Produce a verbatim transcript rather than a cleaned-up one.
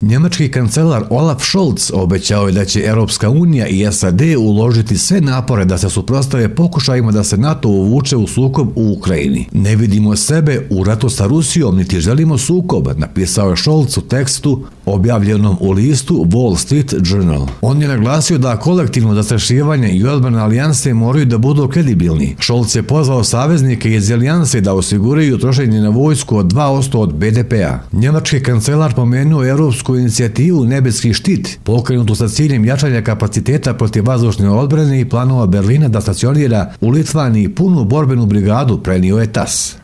Njemački kancelar Olaf Scholz obećao je da će Europska unija i S A D uložiti sve napore da se suprotstave pokušajima da se NATO uvuče u sukob u Ukrajini. Ne vidimo sebe u ratu sa Rusijom, niti želimo sukob, napisao je Scholz u tekstu objavljenom u listu Wall Street Journal. On je naglasio da kolektivno zastrašivanje i odbrana alijanse moraju da budu kredibilni. Scholz je pozvao saveznike iz alijanse da osiguraju trošenje na vojsku od dva posto od B D P-a. Njemački kancelar pomenuo Europsku inicijativu Nebeski štit, pokrenutu sa ciljem jačanja kapaciteta protiv vazdušne odbrane i planova Berlina da stacionira u Litvaniji punu borbenu brigadu, prenio je tas.